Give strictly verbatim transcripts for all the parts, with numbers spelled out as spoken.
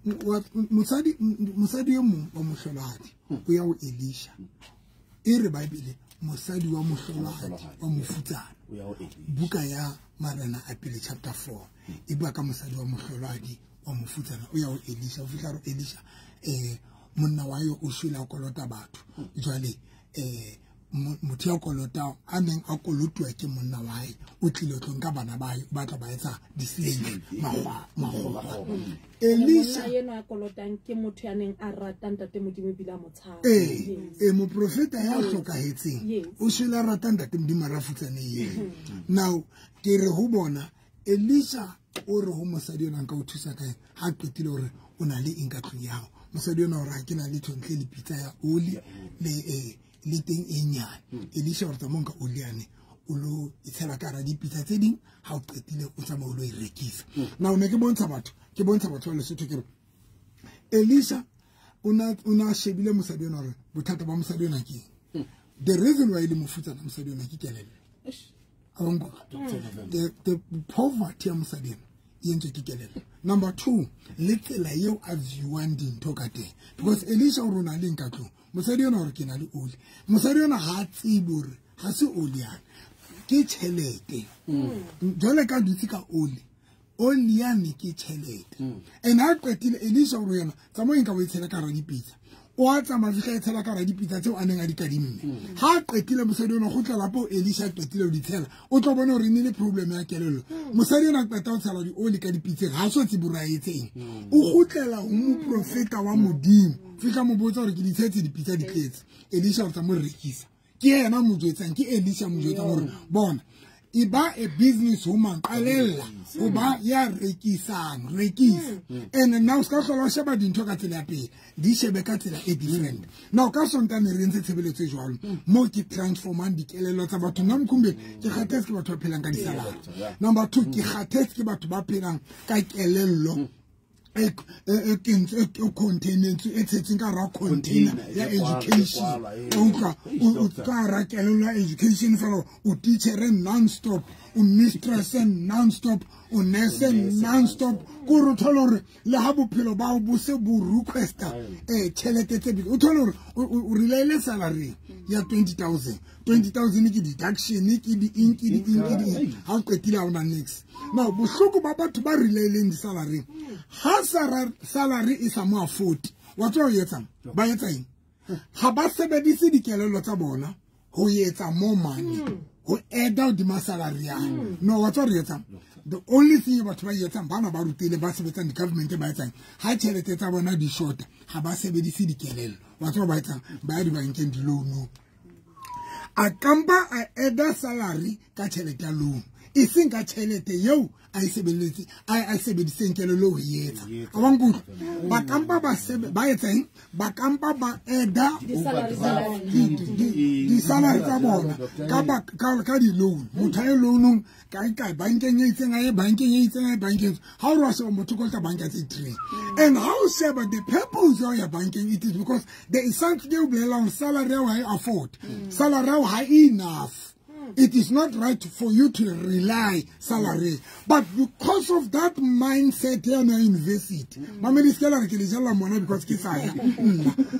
Mosadi mosadi e mong wa mohlolohadi o ya ho Elisha. E re Bible mosadi wa mohlolohadi wa mofutsana. Buka ya Marena a pele chapter four. E bua ka mosadi wa mohlolohadi wa mofutsana o ya ho Elisha. O fihla re Elisha eh monna wa yo o shwele a kolota batho. Jwale eh motho ya kolota a neng a kolotuwa ke monna wa hae o tlile tlo nka bana ba hae ba tla ba etsa di-slave makgwa makgwa. Elisha yena a kolotang ke motho ya neng a rata ntate Modimo ebile a mo tshaba. Eh eh moprofeta ya hlokahetseng o shwele a rata ntate Modimo a rafutsane yena. Now ke re ho bona Elisha o re ho mosadi yona nka o thusa kae ha qetile hore o na le eng ka tlung ya hao. Mosadi yona o re ha ke na le thontle le pitsa ya oli le eh le teng e nyane. Elisha o re tsamaya ka oli yane o lo itshela ka hara dipitsa tse ding ha o qetile o tsamaya o lo e rekisa. Now ne ke bontsha batho ke bontsha batho ba Lesotho ke re Elisha o na o na shebile mosadi yona hore bothata ba mosadi yona ke eng. The reason why le mofutsana mosadi yona ke kelello. The the poverty ya mosadi yona e entswe ke kelello. Number two, le tsela eo a viewang dintho ka teng. Because Elisha o rona le nka tlung. Mosadi yona hore ke na le oli. Mosadi yona ha tsebe hore ha se oli yana. Ke tjhelete. Jwale ka dutse ka oli. Oli yane ke tjhelete. And ha qetile Elisha o re yena tsamaya nka o e tshela ka hara dipitsa. O a tsamaya fihla e tshela ka hara dipitsa tseo a neng a di kadimme. Ha qetile mosadi yona kgutla lapo Elisha qetile o di tshela. O tlo bona hore ne le problem ya kelello. Mosadi yona qeta o tshela di oli ka dipitseng ha so tsebe hore a etseng. O kgutlela ho moprofeta wa Modimo. Fihla mo botsa hore ke di tshetse dipitsa di tletse. Elisha o tla mo rekisa. Ke yena mo jwetsang ke Elisha mo jwetsang hore bona e ba a business woman qalella o ba ya rekisang rekisa. And now ska hlola o sheba dintho ka tsela ya pele di shebe ka tsela e different. Now ka Sontane re ntse tshebeletso e jwalo mo ke transformang dikelello tsa batho. Nna Mkhumbeni ke kgathetse ke batho ba phelang ka disaladi. Number two, ke kgathetse ke batho ba phelang ka kelello e e kentswe e container e tshetseng ka hara container ya education. O utlwa o ka hara kelello ya education fela o teacher non stop, o mistress non stop, o nurse non stop. Ko re thole hore le ha bophelo ba bo se bo requesta eh tjhelete tse big. O thole hore o relaile salary ya twenty thousand. twenty thousand ke deduction ke di eng ke di eng ke di ha o qetile ha ona next. Now bohloko ba batho ba relaileng di salary ha salary e sa mo afford wa tswa o etsang ba etsa eng ha ba sebedise dikelello tsa bona ho etsa more money ho add out di salary ya no wa tswa re etsang. The only thing batho ba etsang bana ba rutile ba sebetsang di government ba etsang ha tjhelete tsa bona di short ha ba sebedise dikelello wa tswa ba etsang ba ya di bankeng di loan. A kampa a add salary ka tjhelete ya loan e seng ka tjhelete eo a e sebeletse a e sebediseng kelello ho etsa. A wa nkutlwa ba kampa ba sebe ba etsang ba kampa ba eda di salary tsa bona ka ba ka di loan. Motho a loanong ka ka bankeng e itseng a ye bankeng e itseng a ye bankeng ha o re wa sheba motho kolota banka tse three. And how sheba the purpose ya banking it is because there is something eo bolelang salary ha e afford salary ha enough. It is not right for you to rely salary. But because of that mindset here in university, mamedi skela re ke le jella mona because ke saya.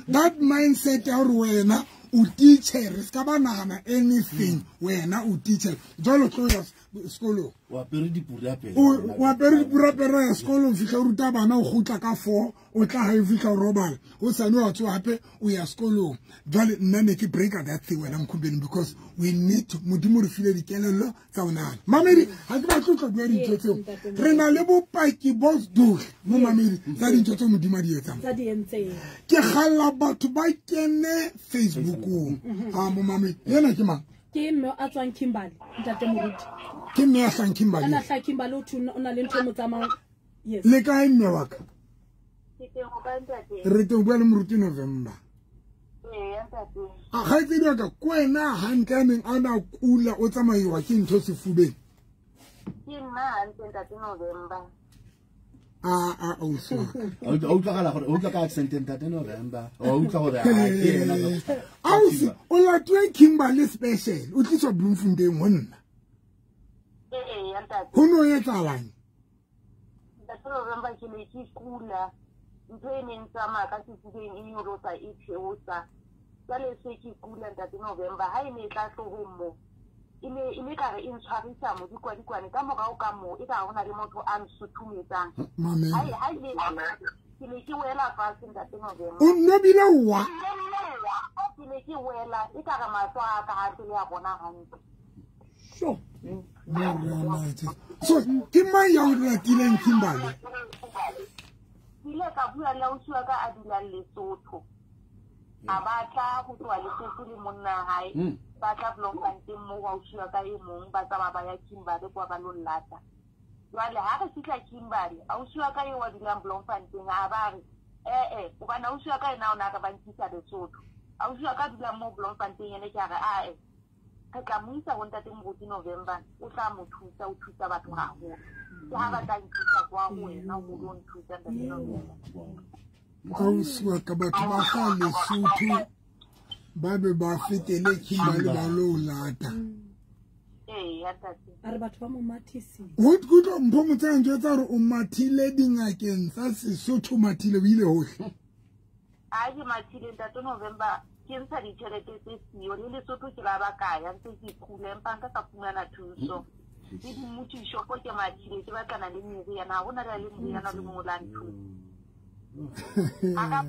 That mindset ya hore wena o teacher, ska ba nahana anything wena o teacher. Jwalo tlo ya sekolong. O apere dipurapere. O apere dipurapere ya sekolong fihla o ruta bana o kgutla ka four, o tla hae fihla o robala. O sane wa tsoha hape o ya sekolong. Jwale nna ne ke break that thing wena Mkhumbeni because we need to Modimo re file dikelello tsa ho nahana. Mamedi ha ke batle ho tla bua dintho tseo. Re na le bopaki bo dohle mo mamedi tsa dintho tseo Modimo a di etsang. Tsa di entseng. Ke kgalla batho ba kene Facebookong. Ha mo mamedi yena ke mang? Ke mme a tswang Kimberley, ntate Moruti. Ke mme a tswang Kimberley. Ana hla Kimberley o thuna o na le ntho e mo tsamayang. Yes. Le kae mme wa ka? Ke teng ho kae ntate? Re teng bua le Moruti November. Ee, ntate. A kgaitsedi wa ka ke wena hantle a neng a na kula o tsamaiwa ke ntho sefubeng? Ke nna hantle ntate November. Ah ah o so. O utlwagala gore o utlwa ka accent ntate November. O utlwa gore a ke ena. Ausi o latuwe Kimberley special o tliswa Bloemfontein ho nna. Ee ee ntate. Ho no etsahalang? Ntate November ke ne ke kula. Ntho e neng tsamaya ka sefubeng e nyolosa e theosa. Jwale se ke kula ntate November ha e ne e tla hloohong mo. E ne e ne ka re e ntshwarisa modikwadikwane ka morao ka moo e ka hona le motho a nsuthumetsang. Mamela. Ha e ke ne ke wela fatshe ntate November. O nobile wa? Ke ne ke wela e ka re mahlo a ka ha tle a bona hantle. Sure. So ke mang ya o ratileng Kimberley? Ke ile ka bua le ausi wa ka a dulang Lesotho. A batla ho tloha Lesotho le monna hae. Ba tla Bloemfontein moo ausi wa ka e mong ba tsamaya ba ya Kimberley kwa ba lo lata. Jwale ha re fihla Kimberley, ausi wa ka eo a dulang Bloemfontein a ba re eh eh hobane ausi wa ka ena o na re ba nkisa Lesotho. Ausi wa ka dulang moo Bloemfontein ene ke a re a eh re tla mo isa ho ntate Moruti November, o tla mo thusa, o thusa batho haholo. Ke ha ba tla nkisa kwa ho wena ho lo nthusa ntate November. Ausi wa ka batho ba hlaha Lesotho ba be ba fetele Kimberley ba lo lata. Ee, ya ntate. A re batho ba mo mathisitse. Ho kutlwa Mpho Motshehang jwetsa hore o mathile dingakeng tsa Sesotho, mathile o ile hohle. A ke mathile ntate November, ke ntsha ditjhelete tse siyo le Lesotho ke la ba kaya ntse ke kula empa nka ka fumana thuso. Le dimmuti-shopo ke mathile ke batlana le meriana, ha hona le meriana le mongwe la nthusa. A ka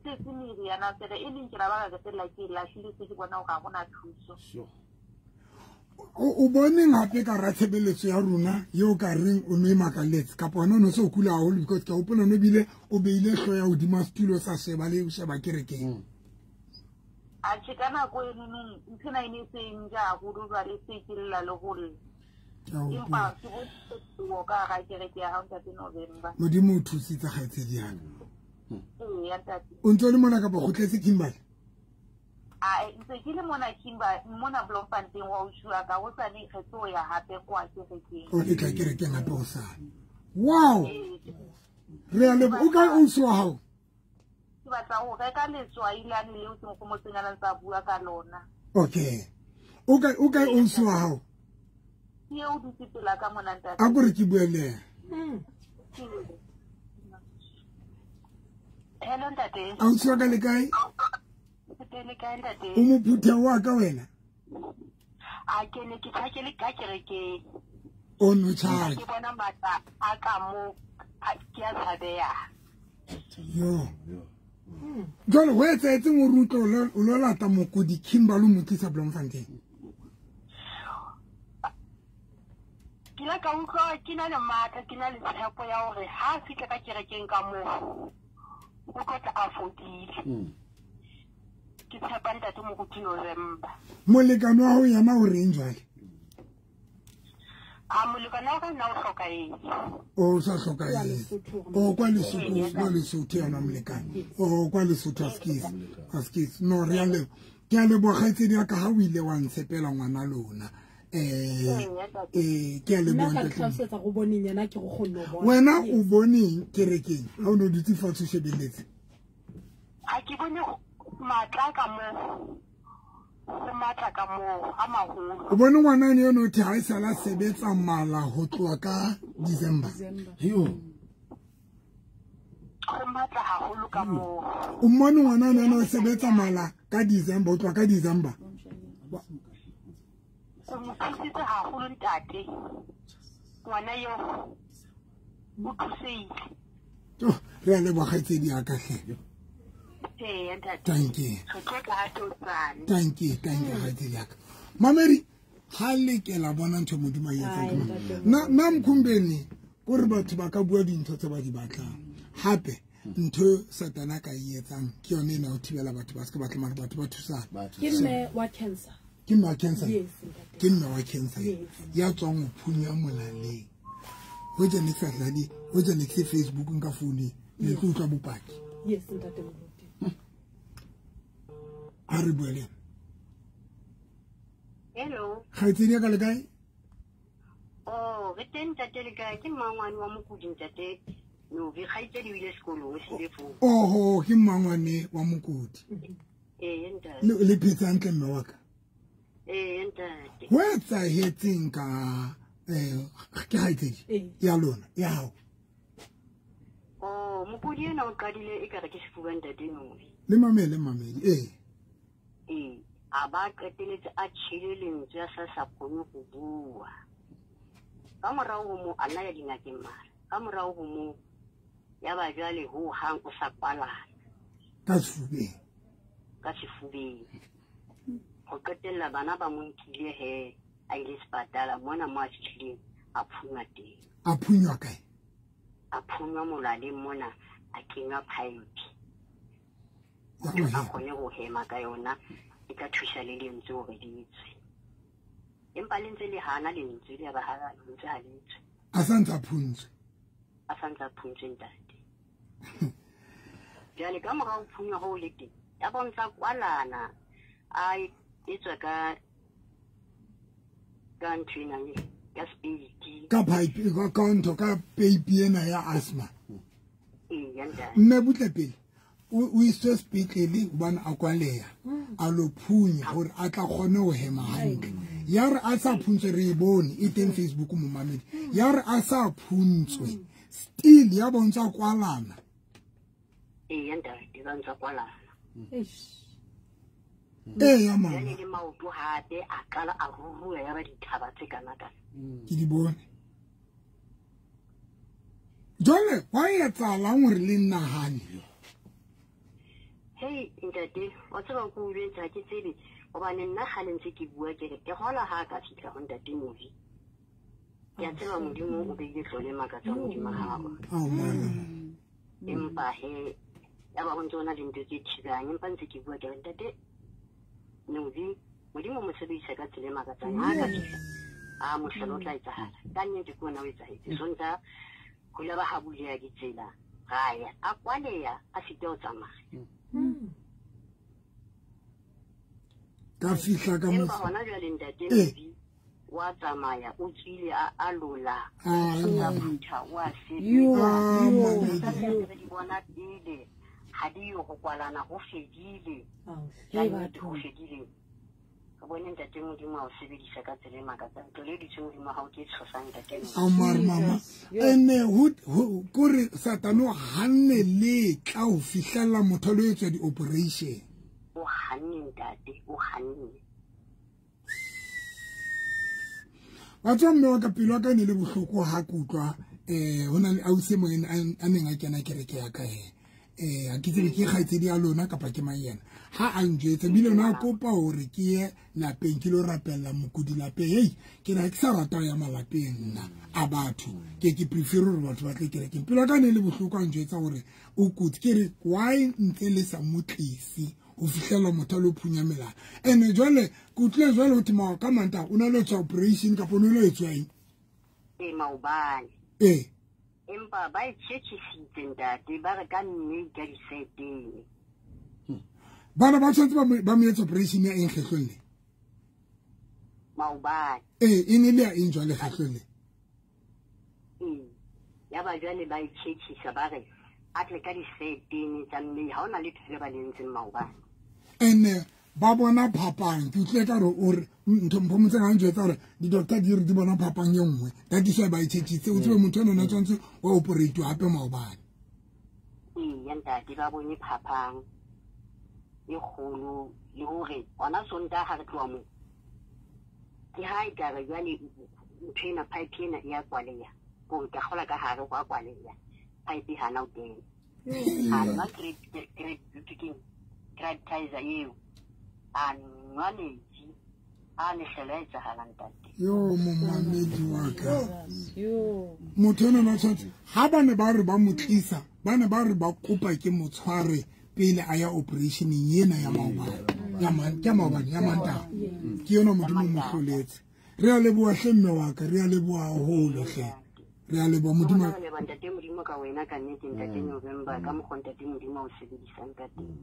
se meriana fela e leng ke la ba ka qetella ke e lahlile se ke bona hore ha hona thuso. O boneng hape ka ra tshebeletso ya rona eo ka reng o no e makaletse kapa hona o no se o kula haholo because ke a hopola o no bile o beile hlooho ya hodima setulo sa sheba le o sheba kerekeng. Atjhe ka nako e nonong nthwena e ne se e nja haholo jwale se ke lla le ho lla. Empa ke bone phetoho ka hara kereke ya hao ntate November. Modimo o thusitse kgaitsedi ya ka. Ee, ya ntate. O ntse o le mona kapa o kgutletse Kimberley? A ntse ke le mona Kimberley, mona Bloemfontein wa ausi wa ka hosane re tlo ya hape kwa kerekeng. O tla kerekeng hape hosane. Wow. Re a leboha. O kae ausi wa hao? Ke batla ho reka letswai lane leo ke nkgomotseng a ntse a bua ka lona. Okay. O kae o kae ausi wa hao? Ke eo dutse pela ka mona ntate. A ko re ke bue le yena. Hello ntate. Ausi wa ka le kae? Ke le kae ntate? O mophutha wa ka wena? A ke ne ke tjhakele ka kerekeng. O no tjhake. Ke bona matla a ka mo ke a tshabeya. Yo. Jwale ho etsahetseng hore o tlo o lo lata mokudi Kimberley o mo tlisa Bloemfontein? Ke ile ka utlwa ke na le matla, ke na le tshepo ya hore ha fihla ka kerekeng ka moo o tlo tla a fodile. Ke tshepa ntate Moruti November. Molekane wa hao yena o reng jwale? A molekane wa ka nna o hlokahetse. O sa hlokahetse. O kwa Lesotho, kwa Lesotho yena molekane. O kwa Lesotho askis. Askis. No re a le ke a leboha kgaitsedi ya ka ha o ile wa ntshepela ngwana lona. Eh eh ke a leboha Nna ka ntate. tlhalosetsa go boneng yena ke go kgonne ho bona. Wena o boneng kerekeng ha o no dutse fatshe o shebelletse? Ha ke bone matla ka moo. Ho matla ka moo a maholo. O bone ngwana ene eno the ha e sala sebetsa mala ho tloha ka December. Yo. Ho matla haholo ka moo. O mmone ngwana ene o sebetsa mala ka December, o tloha ka December. O mo thusitse haholo ntate. Ngwana eo o thusehile. Oh, re a leboha kgaitsedi ya ka hle. Ee, ntate. Thank you. Re tlo tla hape hosane. Thank you, thank you kgaitsedi ya ka. Mamedi, ha le ke la bona ntho Modimo a e etsang Ai, ka mona. ntate. Na na Mkhumbeni kore batho ba ka bua dintho tse ba di batlang. Hape ntho Satana ka e etsang ke yone ena ho thibela batho ba se ke ba tla mare batho ba thusana. Ke mme wa cancer. Ke mme wa cancer. Yes, ntate. Ke mme wa cancer. Yes. Ya tswang ho phunya molaleng. Ho ja ne ke sa dlale, ho ja ne ke se Facebook nka phone, ne ke utlwa bopaki. Yes, ntate Moruti. A re bue le yena. Hello. Kgaitsedi ya ka le kae? Oh, re teng ntate le kae? Ke mmangwane wa mokudi ntate. Novi kgaitsedi o ile sekolong o sile foo. Oho, ke mmangwane wa mokudi. Ee, ntate. Le le phetse hantle mme wa ka? Ee, ntate. Ho etsahetseng ka eh ke kgaitsedi Ee. ya lona ya hao? Oh, Mokudi ena o qadile e kare ke sefuba ntate Nobi. Le mamele mamedi eh. Eh, a ba qeteletse a tjhele lentswe a sa sa kgone go bua. Ka morao ho mo a nna ya dingakeng mara. Ka morao ho mo ya ba jwale ho hang o sa kwalana. Ka sefubeng. Ka sefubeng. Ho qetella bana ba mo nkile he a ile sepatala mona mo a fihlileng a phunywa teng. A phunywa kae? A phunywa molaleng mona a kenywa pipe. A kgone ho hema ka yona e tla thusa le lentswe hore le tswe. Empa le ntse le hana lentswe le ba ha lentswe ha le tswe. A sa ntse a phuntswe. A sa ntse a phuntswe ntate. Jwale ka morao phunywa ho le teng ya bontsha kwalana a e tswa ka ka ntho ena ka speed ka pipe ka ka ntho ka pipe ena ya asthma. Ee ya ntate. Mme butle pele o iswe sepetlele hobane a kwaleha a lo phunya hore a tla kgone ho hema hantle. Ya re a sa phuntswe re e bone e teng Facebook momamedi. Ya re a sa phuntswe still ya bontsha kwalana. Ee ya ntate ba ntsa kwalana. Eish. Ee ya mama. Jwale le maoto hape a qala a ruruha ya ba dithaba tse kana kana. Ke di bone. Jwale wa etsahalang hore le nnahane? Hei ntate, wa tseba ko o jwetsa ke tsebe hobane nna ha le ntse ke bua ke re ke hola ha ka fihla ho ntate Novi. Ke a tseba Modimo o beile tlole makatsa modimo hao. Ao mama. Empa he ya ba ho ntse hona le ntho tse thibang empa ntse ke bua ke re ntate Novi Modimo mo sebedisa ka tsela e makatsang ha ka fihla. A mohlolo o tla etsahala. Ka nnete ke ona o etsahetse. Sonta ho ile ba ha buleha ditsela. Ra ya a kwaleya a sita ho tsamaya. Ka fihla ka empa hona jwale ntate Novi wa tsamaya o tswile a a lola a phutha wa sebetsa re di bona pele ha di yo go kwalana ho fedile ho fedile. Re bone ntate Modimo a o sebedisa ka tsela e makatsang tlole ditswe Modimo ha o ke tshosang ntate Novi. Ao mare mama ene ho kore Satane o hanne le tla ho fihlella motho lo etswa di-operation. O hanne ntate, o hanne. Wa tswa mme wa ka pelo wa ka ne le bohloko ha ke utlwa eh ho na le ausi e mong a neng a kena kereke ya ka he. Eh ha ke tsebe ke kgaitsedi ya lona kapa ke mang yena. Ha a njwetse bile na kopa hore ke ye lapeng ke lo rapella mokudi lapeng. Hei ke na ke sa rata ya malapeng nna a batho. Ke ke prefer hore batho ba tle kerekeng. Pelo ka ne le bohloko a njwetsa hore o kotsi ke re why ntse le sa motlisi ho fihlela motho a lo phunya melala. Ene jwale ke utlwile jwale ho thwe ka Mantaha o na le etswa operation kapa o ne lo etswa eng? Ee maobane. Ee. Empa ba e tjhetjhisitse ntate ba re ka mme ka diseteng. Bana ba tshwanetse ba mo etsa operation ya eng kgetlong le? Maobane. Ee, e ne le ya eng jwale kgetlong le? Ee, ya ba jwale ba e tjhetjhisa ba re a tle ka diseteng tsa mme ha hona letho le ba le entseng maobane. Ene ba bona phapang ke utlwile ka re o re ntho mpho motseng a njwetsa hore di-doctor di re di bona phapang e nngwe that is why ba e tjhetjhitse. O tsebe motho enwa o tshwanetse wa operate hape maobane. Ee ya ntate ba bone phapang e kgolo le hore hona Sontaha ha re tloha moo ke ha e ka re jwale ntho ena pipe ena e ya kwaleha ko ka kgola ka hare ho a kwaleha pipe hana o teng. A nwa critizer eo a nwa metsi a mehlolo a etsahala ntate. Yo momamedi wa ka. Motho enwa o tshwanetse ha ba ne ba re ba mo tlisa ba ne ba re ba kopa ke mo tshware pele a ya operationeng ena ya maobane ya man ke maobane ya Mantaha. Ke yona Modimo mo hloletse. Re a leboha hle mme wa ka, re a leboha haholo hle. Re a leboha Modimo. Re leboha ntate Modimo ka wena ka nnete ntate November ka mokgwa ntate Modimo o sebedisang ka teng.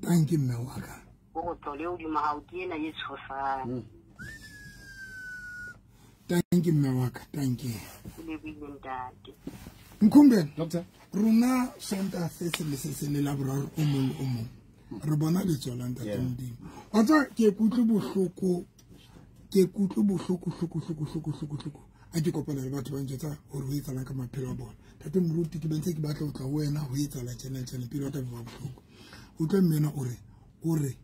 Thank you mme wa ka. O tlole hodimo ha o ke ena e tshosang. Thank you mme wa ka, thank you. O lebohile ntate. Nkhumbe, doctor, rona Sontaha se seng le se seng le Laboraro o mong le o mong re bona letsoho la ntate Modimo. Wa tseba ke kutlwe bohloko, ke kutlwe bohloko hloko hloko hloko hloko hloko. A ke kopana le batho ba njwetsa hore ho etsahalang ka maphelo a bona. Ntate moruti ke bentse ke batla ho tla ho wena ho etsahala tjena tjena pelo ya ka e ba bohloko. Utlwe mme ena o re o re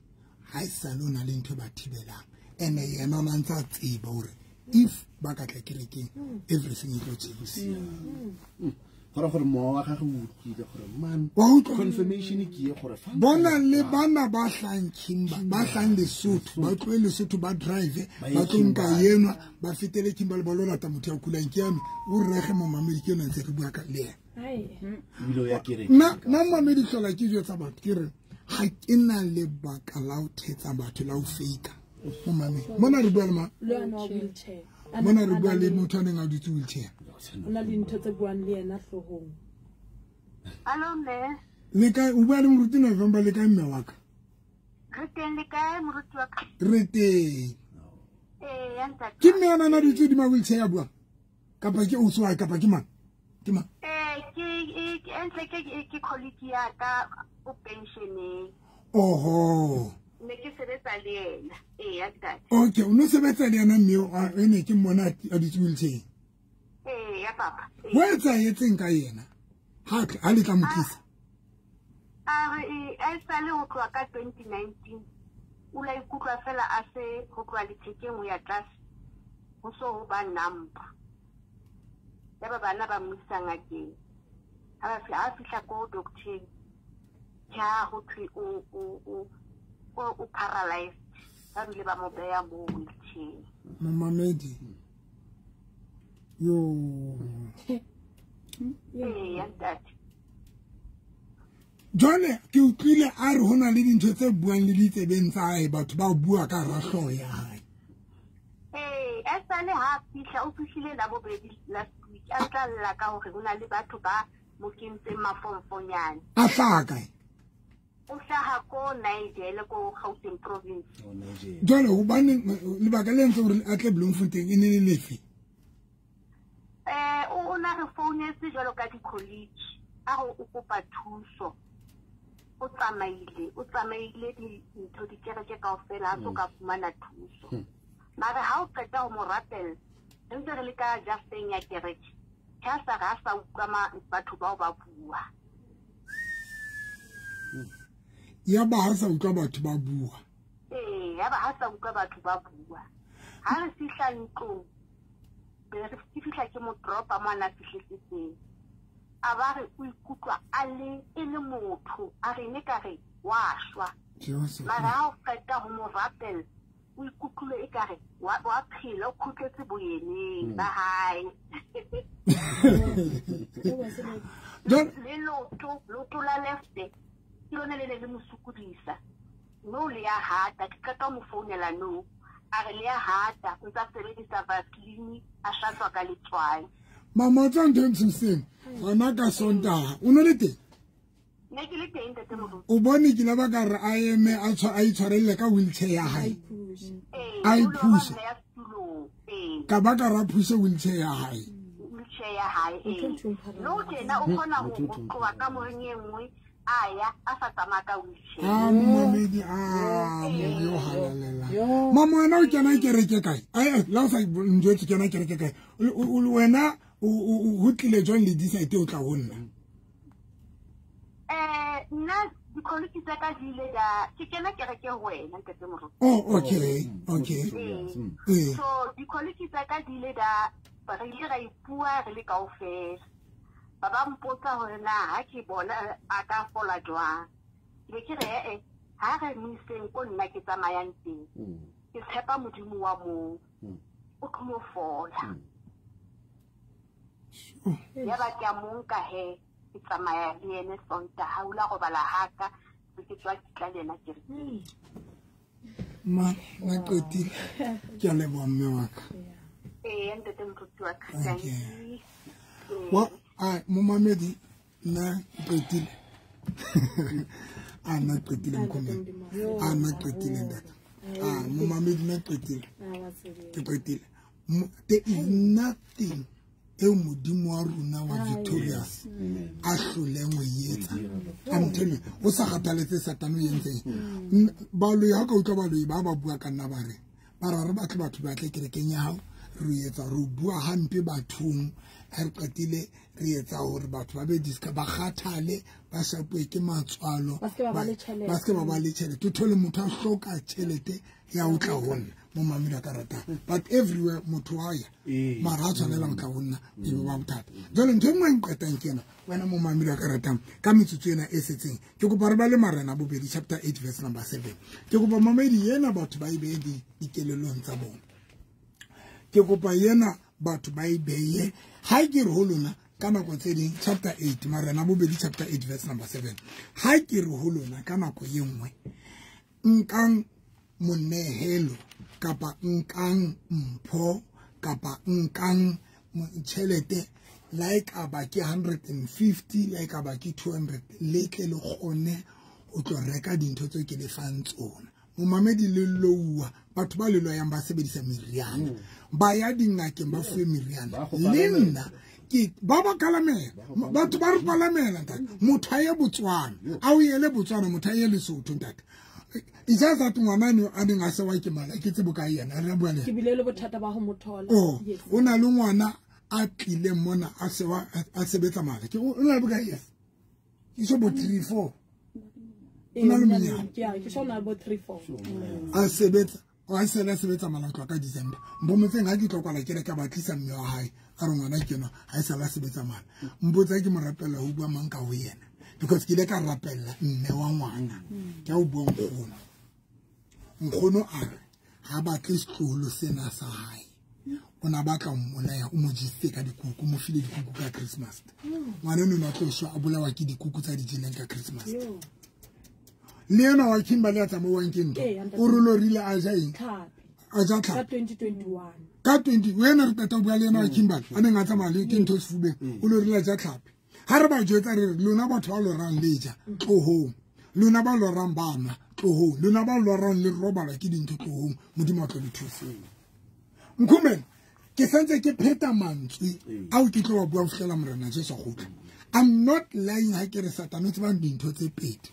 ha e sale o na le ntho e ba thibelang. Ene yena o na ntse a tseba hore if ba ka tla kerekeng everything e tlo change. Gore gore mowa wa gagwe o utlwile gore man confirmation ke ye gore fa bona le bana ba hlang Kimba ba hlang Lesotho ba tlohe Lesotho ba drive ba tlo nka yenwa ba fetele Kimba le ba lo lata motho ya kulang ke yame o rege momamedi ke yona ntse re bua ka le yena. Ebile o ya kereke. Nna nna momamedi hlola ke jwetsa batho ke re ha ke na lebaka la ho thetsa batho la ho fake momamedi mona re bua le mang mona re bua le motho a neng a dutse wheelchair. O na le ntho tse buang le yena hloohong. Hallo mme. Le kae o bua le moruti November le kae mme wa ka? Re teng le kae moruti wa ka? Re teng. Eh ya ntate. Ke mme ana na dutse hodima wheelchair ya bua? Kapa ke ausi wa hae kapa ke mang? Ke mang? Eh ke ke entle ke ke colleague ya ka o pensioneng. Oho. Ne ke sebetsa le yena. Eh ya ntate. Okay, o no sebetsa le yena mme o ene ke mmona a dutse wheelchair. Eh ya papa. Ho etsahetseng ka yena? Ha ha le tla mo tlisa. A re e sale ho tloha ka twenty nineteen. O la ikutlwa fela a se ho tloha lethekeng ho ya tlase. Ho so ho ba number. Ya ba bana ba mo isa ngakeng. Ha ba fihla ha fihla ko doctor. Ja ho thwe o o o o paralyzed. Ba bile ba mo beya mo wheelchair. Momamedi. Yo. Eh ya ntate. Jwale ke utlwile a re hona le dintho tse buang le ditsebeng tsa hae batho ba bua ka hara hlooho ya hae. Eh a sale ha fihla o fihlile la bobedi last week a tla lla ka hore hona le batho ba mo kentseng mafonfonyane. A hlaha kae? O hlaha ko Nigel ko Gauteng province. Oh Nigel. Jwale hobane lebaka le entse hore a tle Bloemfontein e ne le lefe? Eh o na re founetse jwalo ka di-college a re o kopa thuso. O tsamaile o tsamaile dintho dikereke kaofela ha so ka fumana thuso. Mare ha o qeta ho mo rapela re ntse re le ka jafteng ya kereke ha sa re a sa utlwa batho bao ba bua. Ya ba ha sa utlwa batho ba bua. Eh ya ba ha sa utlwa batho ba bua. Ha re fihla ntlong be re fihla ke mo dropa mo ana fihletse teng. A ba re o ikutlwa a le e le motho a re ne ka re wa shwa. Mara ha o qeta ho mo rapela o ikutlwile e ka re wa wa phela o khutletse boyeneng ba hae. Le loto loto la left ke lona le ne le mo sokodisa. No le ya hata ke qeta mo founela no a re le ya hata o ntsa sebedisa Vaseline a hlatswa ka letswai. Mama tsa ntho ntsheng hona ka Sontaha o no le teng? Ne ke le teng ntate moruti. O bone ke la ba ka re a eme a tshwa a itshwarelle ka wheelchair ya hae. A e push. Ka ba ka ra push wheelchair ya hae. Wheelchair ya hae. No tena o kgona ho tloha ka moreng e nngwe a ya a sa tsamaya ka wheelchair. Ah momamedi ah mo halalela. Mama wena o kena kereke kae? Ai la o sa njwetse kena kereke kae? Wena o tlile jwang le decide o tla ho nna? Eh nna dikoloi tsa ka di ile da ke kena kereke ho wena ntate moruti. Oh okay okay. So dikoloi tsa ka di ile da re ile ra ipua re le kaofela. Ba ba mpotsa hore na ha ke bona a ka fola jwang. Ke ke re eh ha re mo iseng ko nna ke tsamayang teng. Ke tshepa Modimo wa moo. O tlo mo fola. Ya ba ke a mo nka he ke tsamaya le ene Sontaha o la robala haka ke tswa ke tla le ena kerekeng. Ma na qetile ke a leboha mme wa ka. Eh ntate moruti wa ka. Thank you. Wa a momamedi nna qetile. A nna qetile nkome. A nna qetile ntate. A momamedi nna qetile. Ke qetile. There is nothing e Modimo wa rona wa victorious a hloleng ho etsa. I'm telling you, o sa kgathaletse Satane o entseng. Baloi ha ka utlwa baloi ba ba bua ka nna ba re ba re re batle batho ba tle kerekeng ya hao, re etsa re bua hampe bathong ha re qetile re etsa hore batho ba be diska ba kgathale ba shapwe ke matswalo ba se ba le tjhelete ba se ba ba le tjhelete o thole motho a hloka tjhelete ya ho tla ho nna mo mamela ka ratang but everywhere motho wa ya mara ha tshwanela ho tla ho nna e be ba bothata. Jwale ntho e nngwe e nqetang ke ena wena mo mamela ka ratang ka metsotso ena e setseng ke kopa re ba le Marena bobedi chapter eight verse number seven. Ke kopa mamedi ena batho ba e behe dikelellong tsa bona. Ke kopa yena batho ba e beye ha ke re ho lona ka nako tse ding chapter eight Marena bobedi chapter eight verse number seven. Ha ke re ho lona ka nako e nngwe nkang monehelo kapa nkang mpho kapa nkang tjhelete like aba ke one fifty like aba ke two hundred le tle le kgone ho tlo reka dintho tseo ke le fang tsona. Momamedi le louwa batho ba le loyang ba sebedisa meriana ba ya dingakeng ba fuwe meriana le nna ke ba ba kalamela batho ba re palamela ntate motho a ye Botswana a o yele Botswana motho a ye Lesotho ntate. It's just that ngwana ne a neng a se wa ke mala ke tsebo ka yena re bua le ke bile le bothata ba ho mothola. Oh o na le ngwana a tlile mona a se wa a sebetsa mala ke o na le bokae yes ke so bo three four o na le monyana ke so na bo three four a sebetsa o se la sebetsa mala tloa ka December mbomotseng ha ke tlo kwala ke re ka batlisa mme wa hae a re ngwana ke no ha e sa la sebetsa mala mpotsa ke mo rapela ho bua mang ka ho yena because ke ile ka rapella mme wa ngwana ke a o bua nkgono nkgono a re ha batle setloholo sena sa hae o na batla mmolaya o mo jise ka dikuku mo file dikuku ka Christmas ngwana eno na tlo shwa a bolawa ke dikuku tsa di jeleng ka Christmas le yena wa Kimberley a tsamauwang ke ntho o rolorile a ja eng a ja ka twenty twenty-one ka twenty wena re qeta ho bua le yena wa Kimberley a neng a tsamaya le ke ntho sefubeng o lorile a ja tlhapi ha re ba jwetsa re lona batho ba lorang le ja tlohong lona ba lorang ba nwa tlohong lona ba lorang le robala ke dintho tlohong modimo a tlo le thusa. Nkhumeng ke santse ke pheta mantswe ao ke tlo wa bua ho fihlela Morena Jesu a kgutla. I'm not lying ha ke re Satane o tseba dintho tse pedi.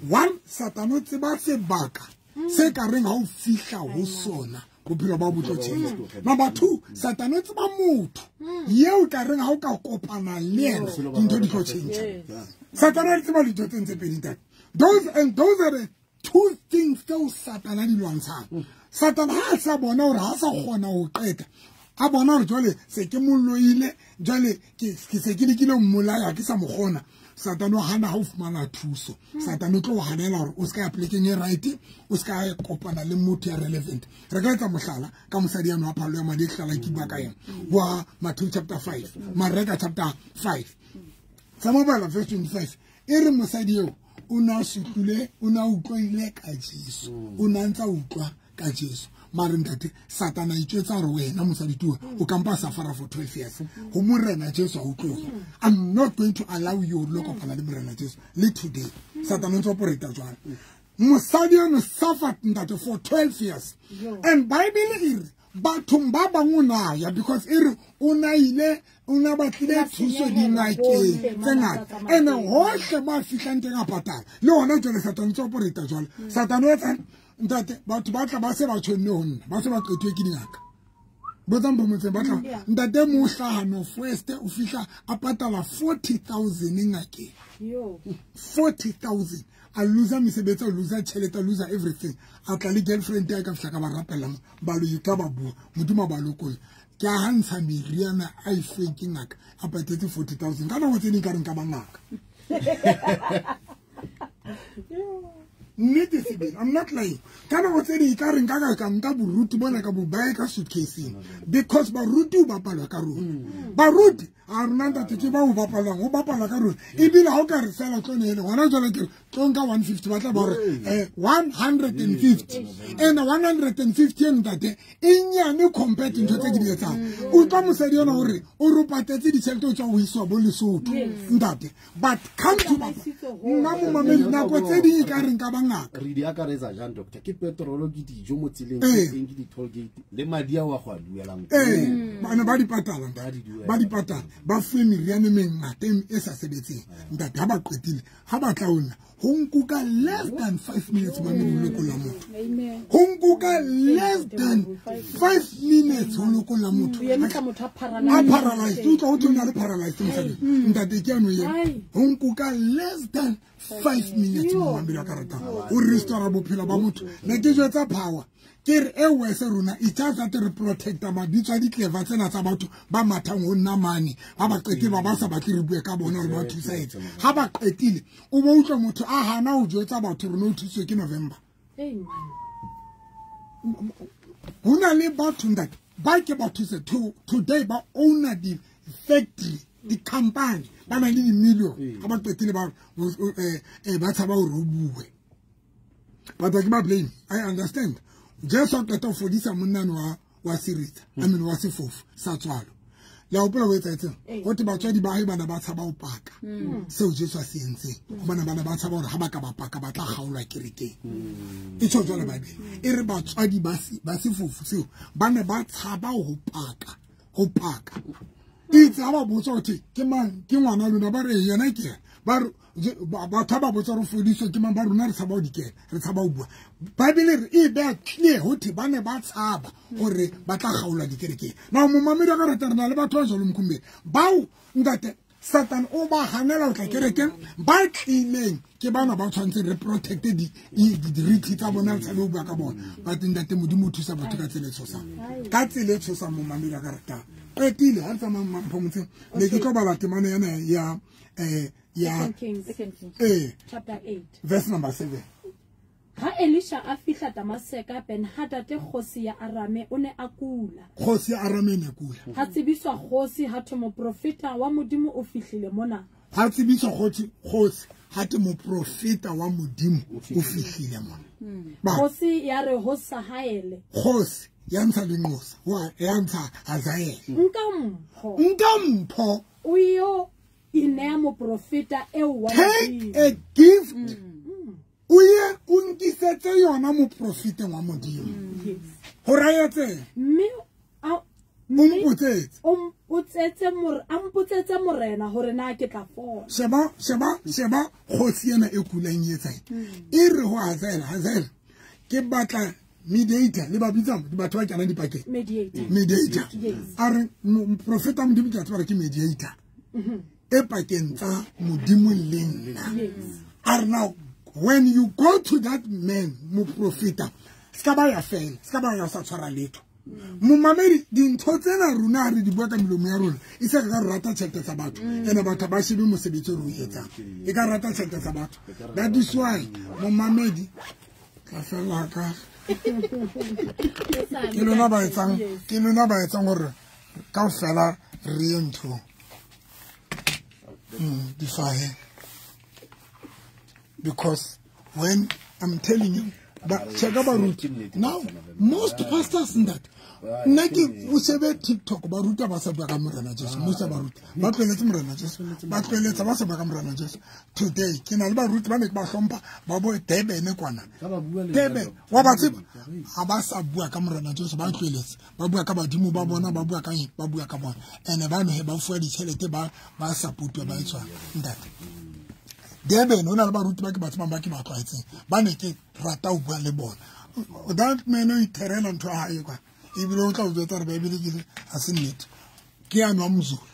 One, Satane o tseba sebaka se ka reng ha o fihla ho sona bophelo ba bo tlo tjhentjha. Number two, Satane o tseba motho yeo ka reng ha o ka kopana le yena dintho di tlo tjhentjha. Satane o tseba dintho tse ntse pedi ntate. Those and those are the two things tseo Satane a di lwantshang. Satane ha a sa bona hore ha sa kgona ho qeta a bona hore jwale se ke molloile jwale ke se ke lekile ho mmolaya ke sa mo kgona. Satane o hana ha o fumana thuso. Satane o tlo hanela hore o ska ya plekeng e right o ska kopana le motho ya relevant. Re ka etsa mohlala ka mosadi ya nwa phalo ya madi e hlala ke bua ka yena wa Matthew chapter five Mareka chapter five tsa mobala verse twenty-five e re mosadi eo o na sutlile o na utlwile ka Jesu o na ntsa utlwa ka Jesu mare ntate Satana itjwetsa hore wena mosadi tuwa o kampa safara for twelve years ho Morena Jesu a utlwe. I'm not going to allow you lo kopana le Morena Jesu le today. Satana o ntse operate jwang mosadi ono suffered ntate for twelve years and Bible e re bathong ba bang o na ya because e re o na ile o na batlile thuso dingakeng tse ngata ene hohle ba fihlang teng a patala le hona jwale Satana o ntse operate jwale. Satana o etsang ntate batho ba tla ba se ba tshwenne ho nna ba se ba qetwe ke dingaka botsang bomotseng ba tla ntate mo hlaha no first o fihla a patala forty thousand ngakeng forty thousand a loser mesebetsi a loser tjhelete a loser everything a tla le girlfriend ya ka fihla ka ba rapella ba lo ka ba bua modimo ba lokolla ke a hantsha meriana a e fuweng ke ngaka a patetse forty thousand ka nako tse ding ka re nka ba ngaka. Nnete sebele, I'm not lying. Ka nako tse ding ka re nka ka ka nka boruti bona ka bo baya ka suitcase-eng because baruti o bapalwa ka rona. Baruti a rona ntate ke ba o bapalwang o bapalwa ka rona ebile ha o ka re fela tlo nele hona jwale ke re tlo nka one fifty ba tla ba hore eh one hundred and fifty and one hundred and fifty ntate e nyane compared to ntho tse ke di etsang. Utlwa mosadi yona hore o ro patetse ditjhelete o tswa ho iswa bo Lesotho ntate but come to bapa nna mo mamedi nako tse ding ka re nka ba ngaka re di akaretsa jang doctor ke petrol ke dijo mo tseleng ke eng ke di toll gate le madi a wa go a duelang eh bana ba di patala ba di patala ba fuwe meriana e mengata e sa sebetseng ntate ha ba qetile ha ba tla ona Ho nkuka less than five minutes mame ho lokolla motho. Ho nkuka less than five minutes ho lokolla motho. A paralyzed. O tla ho tona le paralyzed mosadi. Ntate ke ano yena. Ho nkuka less than five minutes momamedi wa ka ratang. O restore bophelo ba motho. Ne ke jwetsa power. Ke re e wese rona e tsa tsa re protecta mabitso a ditleva tsena tsa batho ba mathang ho nna mane ha ba qetile ba ba sa batle re bue ka bona hore ba thusa etse ha ba qetile o bo utlwa motho a hana ho jwetsa batho rona o thuswe ke November. Ho na le batho ntate ba ke ba thuse today ba owner di factory di company ba na le di million ha ba qetile ba eh ba tshaba hore o bue. But I blame. I understand. Jesu a qeta ho fodisa monna wa wa siritsa I mean wa sefofu sa tswalo le a hopola ho etsa etseng ho te batswadi ba hae bana ba tshaba ho paka seo Jesu a se entseng hobane bana ba tshaba hore ha ba ka ba paka ba tla kgaolwa kerekeng e tjho jwalo Bible e re batswadi ba ba sefofu seo ba ne ba tshaba ho paka ho paka itse ha ba botsa hore ke mang ke ngwana lona ba re yena ke ba batho ba botsa re fodiswe ke mang ba rona re tshaba ho dikena re tshaba ho bua Bible re e be clear ho the ba ne ba tshaba hore ba tla kgaolwa dikerekeng na momamedi wa ka rata re na le batho ba jwalo Mkhumbeni bao ntate Satan o ba hanela ho tla kerekeng ba tlileng ke bana ba tshwantseng re protect di dirithi tsa bona re tshabe ho bua ka bona but ntate Modimo o thusa batho ka tsela e tshosang ka tsela e tshosang momamedi wa ka ratang qetile ha re tsamaya Mphomotsheng ne ke tlo bala temana yana ya eh ya eh chapter eight verse number seven. Ha Elisha a fihla Damaseka, Ben-Hadad kgosi ya Arame o ne a kula. Kgosi ya Arame ne kula. Ha tsebiswa kgosi ha thwe moprofeta wa Modimo o fihlile mona. Ha tsebiswa kgosi kgosi ha thwe moprofeta wa Modimo o fihlile mona. Kgosi ya re ho Sahaele. Kgosi ya ntsha lenqosa wa ya ntsha Hazael. Nka mpho. Nka mpho. O yo inea moprofeta eo wa Take a gift. O ye o nkisetse yona moprofeteng wa Modimo. Ho raetse. Mme a mpotsetse. O mpotsetse more a mpotsetse morena hore na ke tla fola. Sheba sheba sheba kgosi ena e kulang e etsang. E re ho Hazael, Hazael ke batla mediator le ba bitsa batho ba kenang dipakeng. Mediator. Mediator. A re moprofeta Modimo ke a tseba ke mediator. E pakeng tsa Modimo le nna. A re now when you go to that man, moprofeta, ska ba ya fela, ska ba ya sa tshwara letho. Momamedi dintho tsena rona re di bua ka melomo ya rona, e se ka rata tjhelete tsa batho. Ene batho ba shebe mosebetsi o re o etsang. E ka rata tjhelete tsa batho. That is why momamedi tla fela ka ke lona ba etsang, ke lona ba etsang hore kaofela re ye ntho. Mm, difahe. Because when I'm telling you, but check about now, most pastors in that, nna o shebe TikTok ba ruta ba sa bua ka Morena Jesu, most ba ruta ba tlweletse Morena Jesu, ba tlweletse ba sa bua ka Morena Jesu. Today ke na le baruti ba ne ke ba hlompha ba bo Durban kwana. Durban wa ba tseba ha ba sa bua ka Morena Jesu, ba tlweletse ba bua ka badimo ba bona, ba bua ka eng, ba bua ka bona. Ene ba ne ba fuwa ditjhelete ba ba support ba etswa ntate. Durban o na le baruti ba ke ba tsebang ba ke ba tlwaetseng, ba ne ke rata ho bua le bona. That man o itherela ntho ya hae kwa. Ebile o tla o jwetsa hore Bible ke ha se nnete. Ke ya nwa Mzulu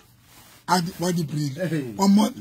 a wa di-braille. Wa mmona?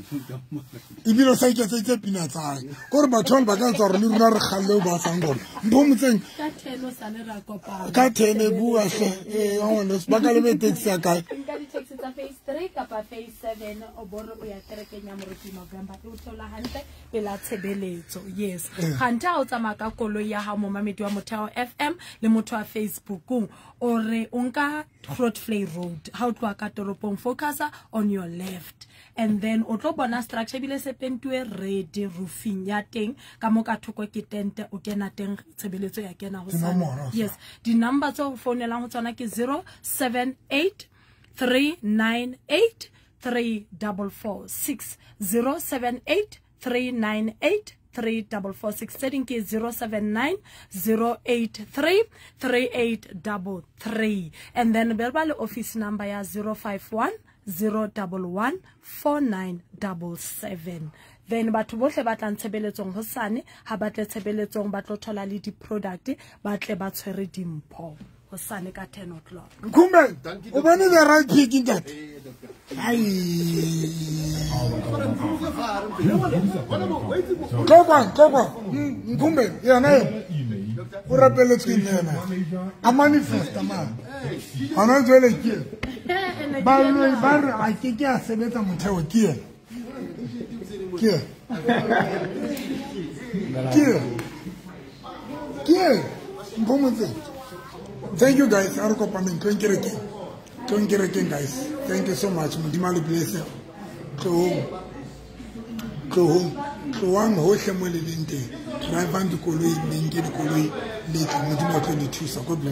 Ebile o sa iketseditse pina tsa hae. Ke hore batho ba ka etsa hore le rona re kgalle ho ba sang bona. Mpho motseng. Ka ten o sale ra kopana. Ka ten e bua hle. Eh, wa ngwana, ba ka lebe taxi ya kae? Nka di-taxi tsa phase three kapa phase seven o bore o ya kerekeng ya Moruti November. E o theola hantle pela tshebeletso. Yes. Kganthe ha o tsamaya ka koloi ya hao momamedi wa Motheo F M le motho wa Facebookong, o re o nka Grootvlei Road ha o tloha ka toropong, focus on your left and then o tlo bona structure ebile se pentuwe red roofing ya teng ka mo ka thoko ke tente o kena teng tshebeletso ya kena ho sa. Yes, di number tse o founelang ho tsona ke zero seven eight three nine eight three four four six, zero seven eight three nine eight three four four six, setting ke zero seven nine zero eight three three eight three three, and then berba le office number ya zero five one zero one one four nine seven seven. Then batho bohle ba tlang tshebeletsong hosane ha ba tle tshebeletsong ba tlo thola le di-product ba tle ba tshwere dimpho hosane ka ten o'clock. Nkumbe o bone the right pick ntate. Ai Tlokwa tlokwa Nkumbe yena o rapeletswe ke yena a manifesta man hona jwale ke ba ba re a ke ke a sebetsa motheo ke yena ke ke ke Mpomotse. Thank you guys. A re kopaneng tlong kerekeng tlong kerekeng guys. Thank you so much. Modimo a le bless. Tlohong tlohong tlohang hohle mo le leng teng. Drivang dikoloi le nke dikoloi le tle. Modimo a tlo le thusa. God bless.